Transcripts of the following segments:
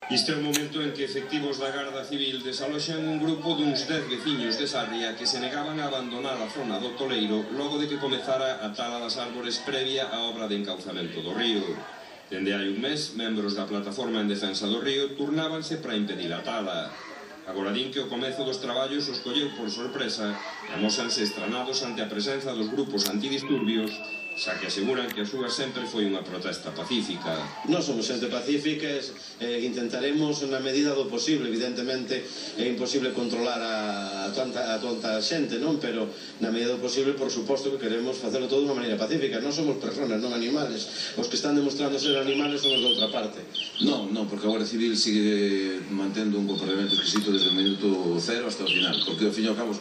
Este é o momento en que efectivos da Garda Civil desaloxan un grupo duns 10 veciños de Sarria que se negaban a abandonar a zona do Toleiro logo de que comezara a tala das árbores previa á obra de encauzamento do río. Dende hai un mes, membros da Plataforma en Defensa do Río turnábanse para impedir a tala. Agora din que o comezo dos traballos os colleu por sorpresa e amósanse estranados ante a presenza dos grupos antidisturbios, xa que aseguran que a súa sempre foi unha protesta pacífica. Non somos xente pacífica, intentaremos na medida do posible, evidentemente é imposible controlar a tanta xente, non? Pero na medida do posible, por suposto que queremos facelo todo de unha maneira pacífica. Non somos personas, non animales. Os que están demostrando ser animales son os de outra parte. Non, porque a Guardia Civil sigue mantendo un comportamento exquisito desde o minuto cero hasta o final, porque ao fin e ao cabo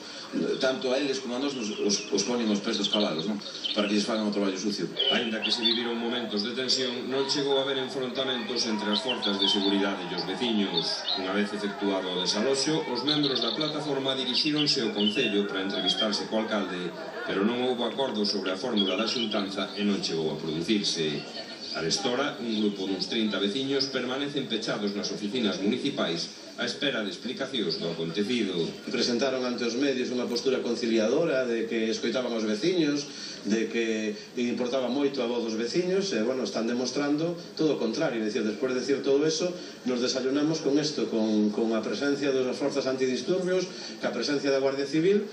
tanto a eles como a nós os ponen os pés dos cabalos, non? Para que lles fagan o traballo sucio. Aínda que se viviron momentos de tensión, non chegou a haber enfrontamentos entre as forzas de seguridade e os veciños. Unha vez efectuado o desaloxo, os membros da plataforma dirixíronse ao Concello para entrevistarse co alcalde, pero non houbo acordo sobre a fórmula da xuntanza e non chegou a producirse. Arestora, un grupo duns 30 veciños permanecen pechados nas oficinas municipais á espera de explicacións do acontecido. Presentaron ante os medios unha postura conciliadora de que escoitaban os veciños, de que importaba moito a voz dos veciños, e, bueno, están demostrando todo o contrario. É dicir, despois de decir todo eso, nos desayunamos con isto, con a presencia das forzas antidisturbios, ca presencia da Guardia Civil,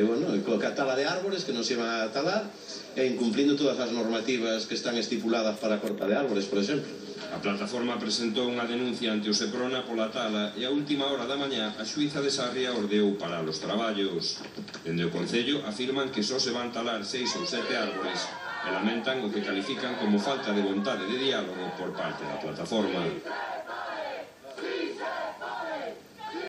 bueno, coa tala de árbores que nos iban a talar, e incumplindo todas as normativas que están estipuladas para a corta de árbores, por exemplo. A plataforma presentou unha denuncia ante o Seprona pola tala e a última hora da mañá a xuíza de Sarria ordeou parar os traballos. Dende o Concello afirman que só se van talar 6 ou 7 árbores e lamentan o que califican como falta de vontade de diálogo por parte da plataforma.